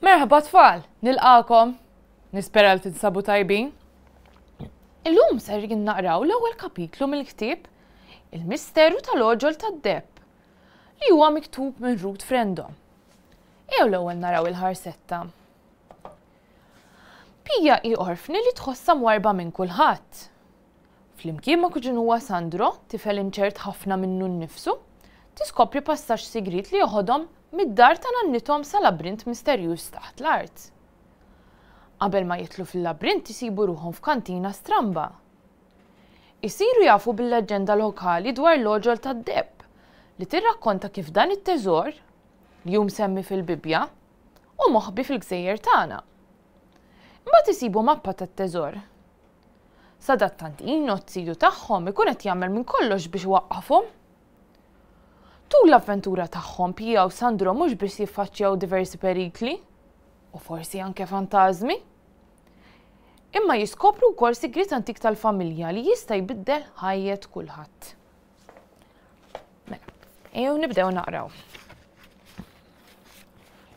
Merħba tfal, nilqakom. Nispera li tinsabu tajbin. Illum ser naqraw l-ewwel kapitlu mill-ktieb Il-Misteru tal-Għoġol tad-Deheb li huwa miktub minn Ruth Frendo. Ejjew l-ewwel naraw il-ħarsetta. Pija hi orfni li tħossha mwarrba minn kulħadd. Flimkien ma' kuġinuha Sandro, tifel inċert ħafna minnu nnifsu, tiskopri passaġġ sigriet li joħodhom mid-dar ta' nannithom sa labrint misterjuż taħt l-art. Qabel ma jidħlu fil-labrint isibu ruħhom f'kantina stramba. Isiru jafu bil-leġġenda lokali dwar l-għoġol tad-deheb li tirrakkonta kif dan it-teżor, li hu msemmi fil-Bibbja, hu moħbi fil-gżejjer tagħna. Imbagħad isibu mappa tat-teżor. Sadattant Ino, t-ziju tagħhom, ikun qed jagħmel minn kollox biex iwaqqafhom. Tul l-avventura tagħhom, Pia u Sandro mhux biss jiffaċċjaw diversi perikli, u forsi anke fantażmi, imma jiskopru wkoll sigriet antik tal-familja li jista' jbiddel ħajjet kulħadd. Mela, ejjew nibdew naqraw.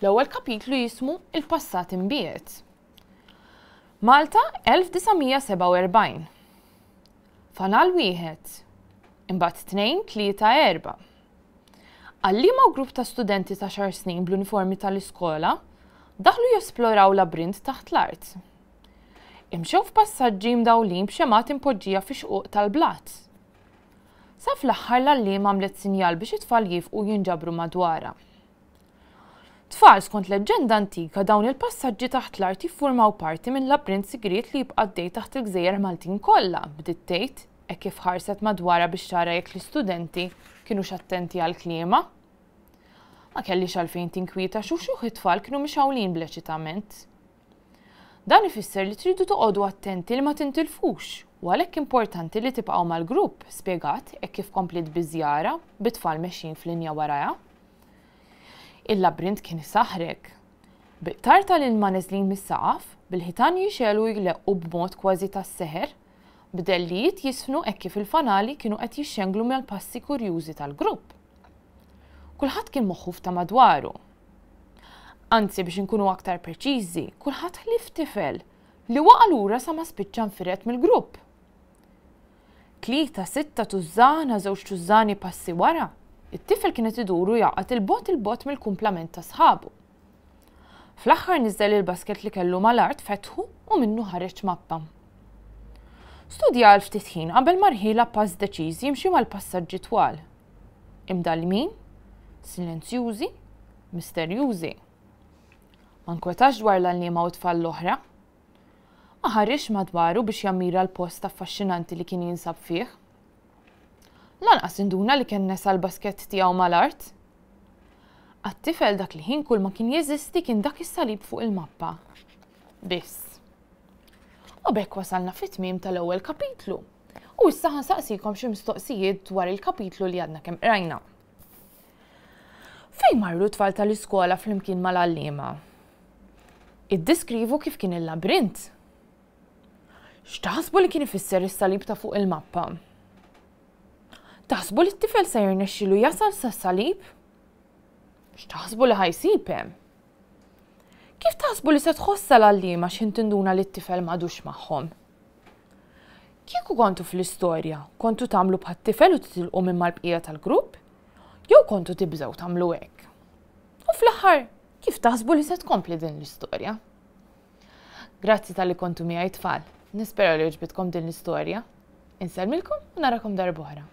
L-ewwel kapitlu jismu Il-Passat Imbiegħed. Malta 1947. Fanal wieħed, imbagħad tnejn, tlieta, erba'. Għalliema u grupp ta' studenti ta' xar snin bl-uniformi tal-iskola daħlu jesploraw labrint taħt l-art. Imxew f'passaġġi mdawlin b'xemgħat impoġġija fi xquq tal-blat. Sa fl-aħħar l-għalliema għamlet sinjal biex it-tfal jiefqu jinġabru madwarha. Tfal, skont leġġenda antika dawn il-passaġġi taħt l-art jiffurmaw parti minn labrint sigriet li jibqa' għaddej taħt il-gżejjer Maltin kollha, bdiet tgħid, hekk kif ħarset madwarha biex tara jekk l-istudenti kinux attenti għal kliemha. Ma kellhiex għalfejn tinkwieta għax uxuħ it-tfal kienu mixgħulin bl-eċitament. Dan ifisser li tridu toqogħdu attenti li ma tintilfux u għalhekk importanti li tibqgħu mal-grupp, spjegat hekk kif kompliet biż-żjara, bit-tfal mexjin f'linja warajha. Il-labrint kien isaħħrek. Bi qtar tal-ilma neżlin mis-saqaf, bil-ħitan jixegħlu u jleqqu b'mod kważi tas-seħer, b'dellijiet jiżfnu hekk kif il fanali kienu qed jixxenglu mal-passi kurjużi tal-grupp. Kulħadd kien moħħu f'ta' madwaru. Anzi, biex inkunu aktar preċiżi, kulħadd ħlief tifel li waqa' lura sa ma spiċċa nfired mill-grupp. Tlieta, sitta tużżana, żewġ tużżani passi wara, it-tifel kien qed idur u jgħaqqad 'il bogħod 'il bogħod mill-kumplament ta' sħabu. Fl-aħħar niżel il-basket li kellu mal-art, fetħu u minnu ħareġ mappa. Studja għal ftit ħin qabel ma rħielha pass deċiż jimxi mal-passaġġi twal. Imdallmin, silenzjużi, misterjużi. Ma nkwetax dwar l-għalliema u t-tfal l-oħra. Ma ħarisx madwaru biex jammira l-post affaxxinanti li kien jinsab fih. Lanqas induna li kien nesa l-baskett tiegħu mal-art. Għat-tifel dak il-ħin kull ma kien jeżisti kien dak is-salib fuq il-mappa. Biss. U b'hekk wasalna fit-tmiem tal-ewwel kapitlu. U issa ħansaqsikom xi mistoqsijiet dwar il-kapitlu li għadna kemm qrajna. Fejn marru t-tfal tal-iskola flimkien mal-għalliema? Iddeskrivu kif kien il-labrint. X'taħsbu li kien ifisser is-salib ta' fuq il-mappa? Taħsbu li t-tifel se jirnexxilu jasal sas-salib? X'taħsbu li ħajsib hemm? Kif taħsbu li se tħossha l-għalliema x'ħin tinduna li t-tifel m'għadux magħhom? Kieku kontu fl-istorja, kontu tagħmlu bħat-tifel u titilqu minn mal-bqija tal-grupp? Jew kontu tibżgħu tagħmlu hekk? U fl-aħħar, kif taħsbu li se tkompli din l-istorja? Grazzi talli kontu miegħi tfal. Nispera li għoġbitkom din l-istorja. Insellmilkom u narakom darb'oħra.